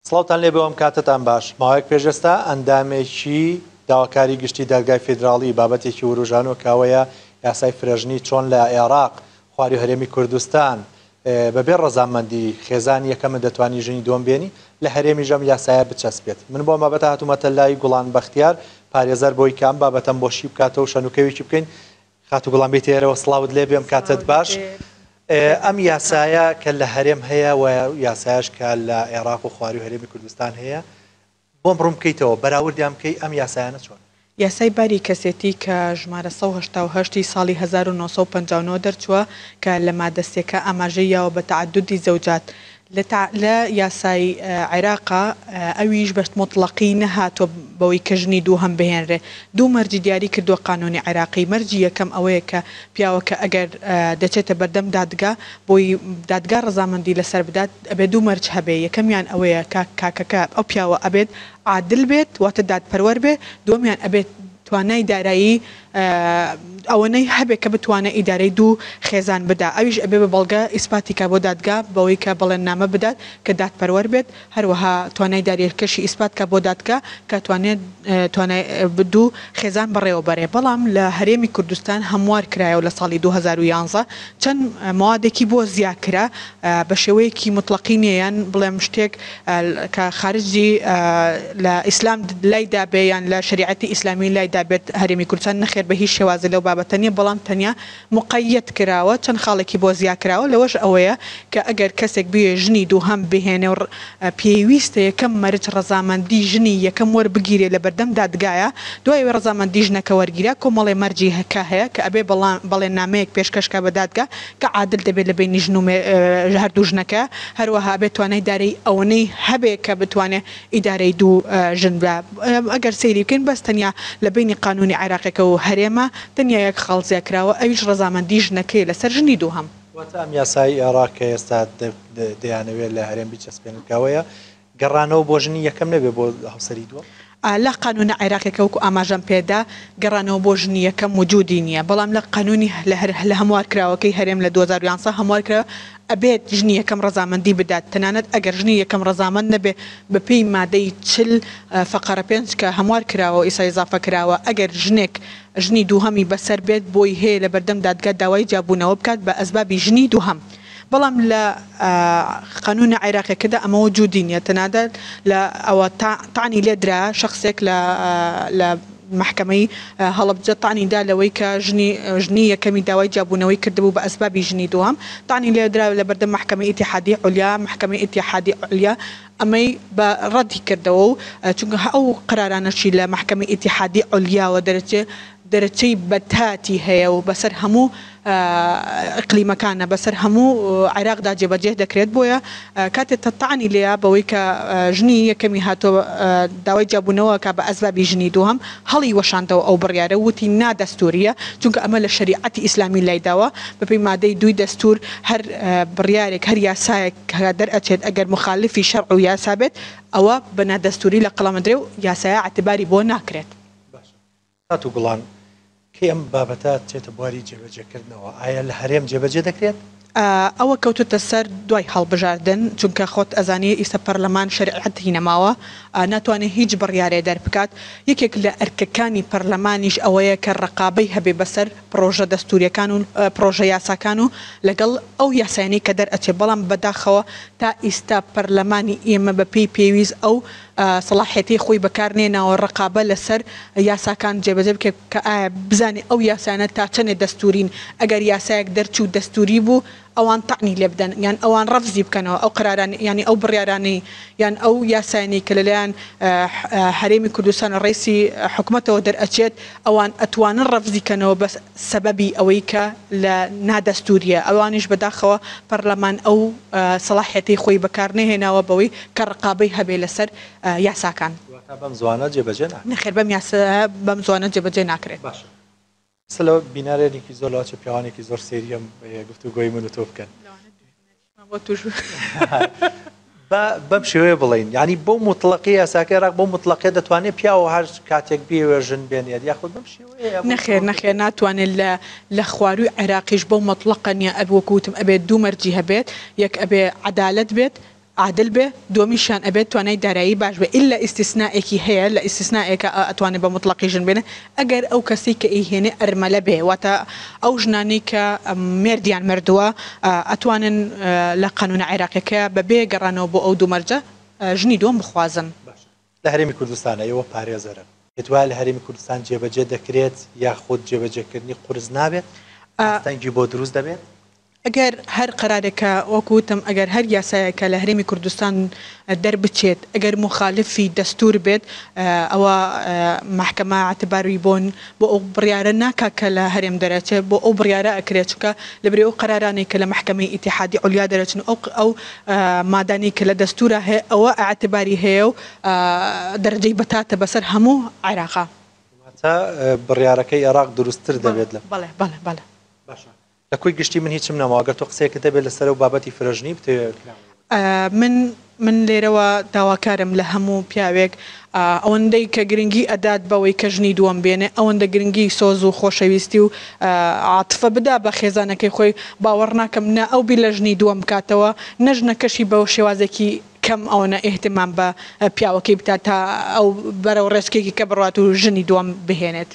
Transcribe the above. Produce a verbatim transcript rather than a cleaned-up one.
سڵاوتان لێ بەوەم کاتتان باش. ماوەیەک پێش ئێستا ئەندامێکی داواکاری گشتی دادگای فیدراڵی بابەتێکی وروژانەوە کاوەیە یاسای فرەژنی چۆن لە عێراق خواری هەرێمی کوردستان بەبێ ڕەزامەندی خێزانی یەکەمە دەتوانی ژنی دووەم بێنی لە هەرێمی ژەم یاسایە بچەسپێت. من بۆ بابەتە هاتوومەتە لای گوڵان بەختیار پارێزەر بۆی کام بابەتەم بۆ شی بکاتەوە شەنوکەوێکی بکەین. خاتوو گوڵان بێتە ئێرەوە، سڵاوت لێ بێم، کاتت باش. ئەم یاسایە کە لە هەرێم هەیە و یاسایش کە لە عێراق و خواری و هەرێمی کوردستان هەیە، بۆم ڕوون بکەیتەوە بەراوردیان بکەی ئەم یاسایانە چۆن؟ یاسای باری کەسێتی کە ژمارە سەد و هەشتا و هەشت ساڵی هەزار و نۆ سەد و پەنجا و نۆ دەرچووە کە لە مادە سێکە ئاماژەی یاوە بە تەعەدودی زەوجات لە یاسای عێراقا، ئەویش بە مطلقی نەهاتووە بەوەی کە ژنی دووهەم بهێنرێ. دوو مەرجی دیاری کردووە قانونی عێراقی. مەرجی یەکەم ئەوەیە کە پیاوەکە ئەگەر دەچێتە بەردەم دادگا بۆی دادگا ڕەزامەندی لەسەر بدات ئەبێ دوو مەرج هەبێ. یەکەمیان ئەوەیە کە کاکەکە ئەو پیاوە ئەبێت عادل بێت، واتە دادپەروەر بێ. دووەمیان ئەبێت توانای دارایی ئەوەنەی هەبێت کە بتوانێت ئیدارەی دوو خێزان بدا. ئەویش ئەبێ بە بەڵگە ئیسپاتیکا بۆ دادگا بەوەی کە بەڵێننامە بدات کە دادپەروەر بێت، هەروەها توانای داریەکەشی ئیسپاتکا بۆ دادگا کە توانێت توانای دوو خێزان بەڕێوە بەرێ. بەڵام لە هەرێمی کوردستان هەموار کرایەوە لە ساڵی دوو هەزار و یانزە چەند موادێکی بۆ زیاد کرا بە شێوەیەکی مطلقی نییە، یان بڵێم شتێک کە خارجی لە ئیسلام لای دابێ یان لە شریعەتی ئیسلامی لای دابێت هەرێمی کوردستان نەخێر بە هیچ شێوازی لەو بابەتە نییە، بەڵام تەنیا مقەیەت کراوە، چەند خاڵێکی بۆ زیاد کراوە. لەوەش ئەوەیە کە ئەگەر کەسێک بێ ژنی دووهەم بهێنێ و پێویستە یەکەم مەرج ڕەزامەندی ژنی یەکەم وەربگیرێ لە بەردەم دادگایە، دوای ئەوەی ڕەزامەندی ژنەکە وەرگیرا کۆمەڵێ مەرجی کە هەیە کە ئەبێ بەڵێننامەیەک پێشکەشکا بە دادگا کە عادل دەبێت لە بینی ژن و هەردوو ژنەکە، هەروەها ئەبێت توانای دارەی ئەوەنەی هەبێ کە بتوانێت ئیدارەی دوو ژن بە. ئەگەر سەیری بکەین بەس تەنیا لە بینی قانونی عێراقیەکە و هەرێمە تەنیا یەک خاڵ زیاد کراوە، ئەویش ڕەزامەندی ژنەکەی لەسەر ژنی دووهەم. واتە ئەم یاسای عێراق کە ئێستا دەیانەوێت لە هەرێم بچەسپێنن کاوەیە گەڕانەوە بۆ ژنی یەکەم نەبێ بۆ هاوسەری دووەم؟ لە قانونە عێراقیەکە وەکو ئاماژەم پێدا گەڕانەوە بۆ ژنی یەکەم وجودی نییە، بەڵام لە قانونی لە هەموار کراوەکەی هەرێم لە دوو هەزار و یانزە هەموار کراوە ئەبێت ژنی یەکەم ڕەزامەندی بدات. تەنانەت ئەگەر ژنی یەکەم ڕەزامەند نەبێ بە پێی مادەی چل فەقەرە پێنج کە هەموار کراوە و ئیسا ئیزافە کراوە، ئەگەر ژنێک ژنی دووهەمی بەسەر بێت بۆی هەیە لە بەردەم دادگا داوای جیابوونەوە بکات بە ئەسبابی ژنی دووهەم. بەڵام لە قانونە عێراقیەکەدا ئەمە وجودی نییە، تەنانەت لە ئەوە تەعنی لێدرا شخصێک لە محکمەی هەڵەبجە تەعنی دا لەوەی کە ژنی یەکەمی داوای جیابوونەوەی کردبوو بە ئەسبابی ژنی دووهەم، تەعنی لێدرا لە بەردەم محکمەی ئیتیحادی عولیا. محکمەی ئیتیحادی عولیا ئەمەی بە ڕەدی کردەوە و چونکە ئەو قرارانەشی لە محکمەی ئیتیحادی عولیاوە دەرەچێ دەرەچەی بەتاتی هەیە و بەسەر هەموو ئەقلیمەکانە بەسەر هەموو عێراقدا جێبەجێ دەکرێت. بۆیە کاتێک تەتعنی لێیە بەوەی کە ژنی یەکەمی هاتۆ داوای جیابوونەوە کە بە ئەسبابی ژنی دووهەم هەڵی وەشاندەوە ئەو بڕیارە وتی نادەستوریە، چونکە ئەمە لە شەریعەتی ئیسلامی لایداوە بەپێی مادەی دووی دەستور هەر بڕیارێک هەر یاسایەک کە دەرئەچێت ئەگەر مخالفی شەرع و یاسا بێت ئەوە بە نادەستوری لە قەڵەمەدرێ و یاسایە اعتباری بۆ ناکرێت. خاتوو گوڵان، کەی ئەم بابەتە چێتە بواری جێبەجێکردنەوە؟ ئایا لە هەرێم جێبەجێ دەکرێت؟ ئەوە کەوتوتە سەر دوای هەڵبژاردن، چونکە خۆت ئەزانی ئیستا پەرلەمان شەریعەتی نەماوە، ناتوانێت هیچ بڕیارێ دەربکات. یەکێک لە ئەرکەکانی پەرلەمانیش ئەوەیە کە ڕقابەی هەبێ بەسەر پرۆژە دەستوریەکان و پرۆژە یاساکان و لەگەڵ ئەو یاسایانەی کە دەرئەچێت. بەڵام بەداخەوە تا ئیستا پەرلەمانی ئێمە بە پێی پێویست ئەو سەلاحیەتی خۆی بەکارنێناوە ڕقابە لەسەر یاساکان جێبەجێ بکرێت کە ئایا بزانێ ئەو یاسانە تا چەندێ دەستورین. ئەگەر یاسایەک دەرچوو دەستوری بوو ئەوان تەعنی لێ بدەن یان ئەوان ڕەفزی بکەنەوە ئەو قراران یعنی ئەو بڕیارانەی یان ئەو یاسایانەی کە لەلایەن هەرێمی کوردستان ڕئیسی حکومەتەوە دەرئەچێت ئەوان ئەتوانن ڕەفزی کەنەوە بەس سەبەبی ئەوەی کە لە نادەستوریە. ئەوانیش بەداخەوە پەرلەمان ئەو سەلاحیەتی خۆی بەکار نەهێناوە بەوەی کە ڕقابەی هەبێ لەسەر یاساکان. واتە بەم زوانە جێبەجێ ناکرێت؟ نەخێر، بەم یاسا بەم زوانە جێبەجێ ناکرێت. باشە، سلو بینارێکی زۆر لەوە چه پیاوانێکی زۆر سێریەم گفتوگۆی من و تۆ بکەن. بۆ توش بەم شێوەیە بڵین، یعنی بۆ مطلقی یاساکە عێراق بۆ مطلقی دەتوانێت پیاوە هەر کاتێک بێوێ ژن بێنێت یاخود بەم شێوەیە؟ نەخێر نەخێر، ناتوانێت لە خواروی عێراقیش بۆ مطلقە نییە. ئەب وەکو وتم ئەبێت دوو مەرجی هەبێت، یەک ئەبێ عەدالەت بێت، عادل بێ، دووەمیشیان ئەبێت توانای دارایی باش بێ، ئیلا ئیستیسنائێکی هەیە، لە ئیستیسنائێکا ئەتوانێ بە موتڵەقی ژن بێنێ ئەگەر ئەو کەسەی کە ئەیهێنێ ئەرمەلە بێ، واتە ئەو ژنانەی کە مێردیان مردووە ئەتوانن لە قانونە عێراقیەکەیا بەبێ گەڕانەوە بۆ ئەو دوو مەرجە ژنی دووەم بخوازن. باشە لە هەرێمی کوردستانا ئێوە پارێزەرن، پێت وایە لە هەرێمی کوردستان جێبەجێ دەکرێت یاخود جێبەجێکردنی قورس نابێت؟ ئاستەنگی بۆ دروست دەبێت؟ ئەگەر هەر قەرارێک کە وەکو وتم ئەگەر هەر یاسایەک کە لە هەرێمی کوردستان دەربچێت ئەگەر موخالفی دەستور بێت ئەوە مەحکەمە ئیعتباری بۆ بۆ ئەو بڕیارە ناکا کە لە هەرێم دەرەچێت بۆ ئەو بڕیارە ئەکرێت چونکە لەبری ئەو قەرارانەی کە لە مەحکەمەی ئیتیحادی عولیا دەرەچن و ئەو ئەو مادانەی کە لە دەستورا هەیە ئەوە ئیعتباری هەیە و دەرەجەی بەتاتە بەسەر هەموو عێراقا. واتە بڕیارەکەی عێراق دروستتر دەبێت لە. بەڵێ بەڵێ بەڵێ. باشە لە کۆی گشتی من هیچم نەماوە گەر تۆ قسەیەکت هەبێت لەسەر ئەو بابەتی فرەژنی بتەوێ کراوەیە. من من لێرەوە داواکارم لە هەموو پیاوێک ئەوەندەی کە گرنگی ئەدات بەوەی کە ژنی دووەم بێنێ ئەوەندە گرنگی سۆز و خۆشەویستی و عاتفە بدا بە خێزانەکەی خۆی باوەڕ ناکەم نە ئەو بیر لە ژنی دووەم بکاتەوە نە ژنەکەشی بە شێوازێکی کەم ئەوەنە ئیهتمام بە پیاوەکەی بکات تا ئەو بەرەو ڕێچکەیەکی کە بڕوات و ژنی دووەم بهێنێت.